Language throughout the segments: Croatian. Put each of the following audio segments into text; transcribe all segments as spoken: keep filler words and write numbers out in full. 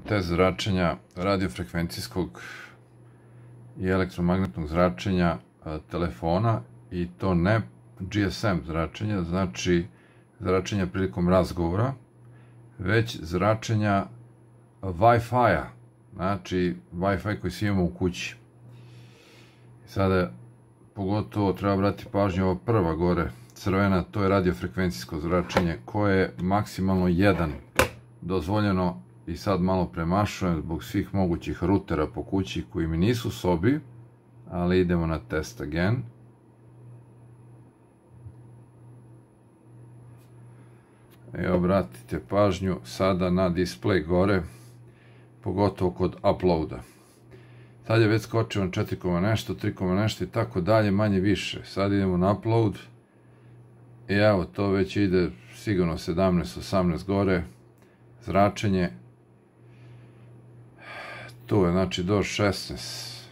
test zračenja radiofrekvencijskog i elektromagnetnog zračenja telefona, i to ne G S M zračenja, znači zračenja prilikom razgovora, već zračenja Wi-Fi-a, znači Wi-Fi koji svi imamo u kući. Sada pogotovo treba brati pažnju, ova prva gore crvena, to je radiofrekvencijsko zračenje koje je maksimalno jedan dozvoljeno, i sad malo premašujem zbog svih mogućih rutera po kući koji mi nisu u sobi, ali idemo na test again. I obratite pažnju sada na display gore, pogotovo kod uploada. Sad je već skočio na četiri koma nešto, tri koma nešto i tako dalje, manje više. Sad idemo na upload i evo, to već ide sigurno sedamnaest osamnaest gore, zračenje. Tu je, znači, do šesnaest.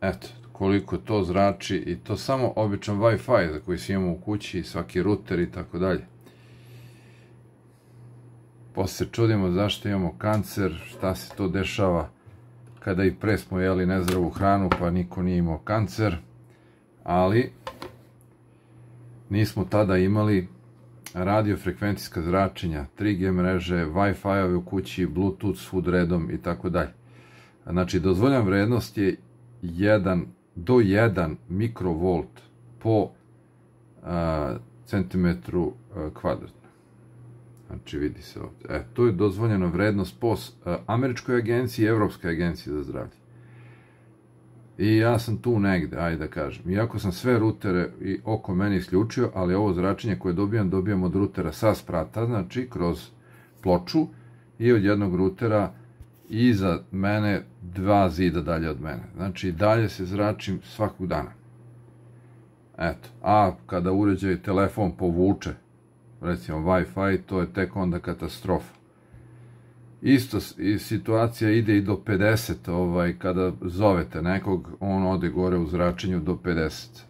Eto, koliko to zrači, i to samo običan Wi-Fi za koji svi imamo u kući, svaki ruter i tako dalje. Posle se čudimo zašto imamo kancer, šta se to dešava kada i pre smo jeli nezdravu hranu pa niko nije imao kancer, ali nismo tada imali radiofrekvencijska zračenja, tri G mreže, Wi-Fi-ove u kući, Bluetooth svud redom i tako dalje. Znači, dozvoljena vrednost je jedan do jedan mikrovolt po centimetru kvadratnom. Znači, vidi se ovdje. E, to je dozvoljena vrednost po Američkoj agenciji i Evropskoj agenciji za zdravlje. I ja sam tu negde, ajde da kažem. Iako sam sve rutere i oko mene isključio, ali ovo zračenje koje dobijam, dobijam od rutera sa sprata, znači kroz ploču, i od jednog rutera iza mene, dva zida dalje od mene. Znači, dalje se zračim svakog dana. Eto, a kada uređaj telefon povuče, recimo Wi-Fi, to je tek onda katastrofa. Isto situacija ide i do pedeset, kada zovete nekog, on ode gore u zračenju do pedeset.